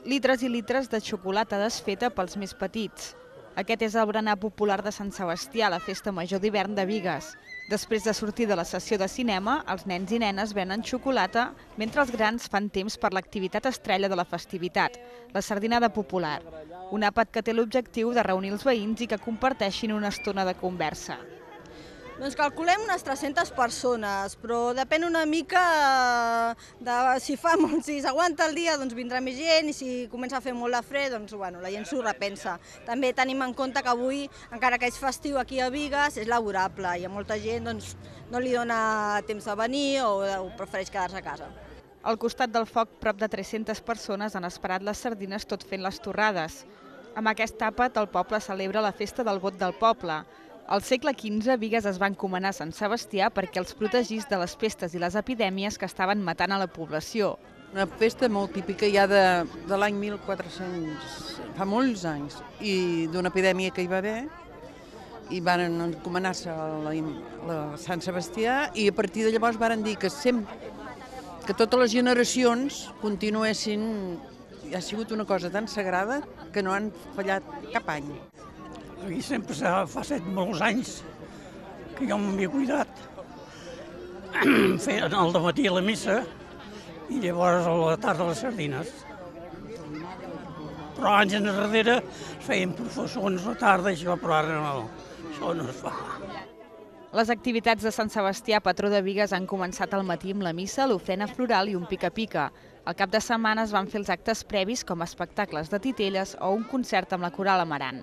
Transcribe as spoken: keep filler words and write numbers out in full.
litres i litres de xocolata desfeta pels més petits. Aquest és el berenar popular de Sant Sebastià, la festa major d'hivern de Bigues. Després de sortir de la sessió de cinema, els nens i nenes venen xocolata, mentre els grans fan temps per l'activitat estrella de la festivitat, la sardinada popular. Un àpat que té l'objectiu de reunir els veïns i que comparteixin una estona de conversa. Doncs calculem unes tres-centes persones, però depèn una mica de si fa molt, si s'aguanta el dia doncs vindrà més gent i si comença a fer molt de fred doncs bueno, la gent s'ho repensa. També tenim en compte que avui, encara que és festiu aquí a Bigues, és laborable i a molta gent doncs, no li dona temps de venir o, o prefereix quedar-se a casa. Al costat del foc, prop de tres-centes persones han esperat les sardines tot fent les torrades. Amb aquest àpat, el poble celebra la festa del vot del poble. Al segle quinze, Bigues es va encomanar a Sant Sebastià perquè els protegís de les pestes i les epidèmies que estaven matant a la població. Una festa molt típica ja de, de l'any mil quatre-cents, fa molts anys, i d'una epidèmia que hi va haver, i van encomanar-se a, la, a Sant Sebastià, i a partir de llavors van dir que, sempre, que totes les generacions continuessin, ha sigut una cosa tan sagrada que no han fallat cap any. Aquí sempre fa set molts anys que jo m'havia cuidat. Feien al dematí la missa i llavors a la tarda les sardines. Però anys enrere feien professons a la tarda i això, però ara no, això no es fa. Les activitats de Sant Sebastià, patró de Bigues, han començat al matí amb la missa, l'ofrena floral i un pica-pica. Al cap de setmana es van fer els actes previs com espectacles de titelles o un concert amb la Coral Amarant.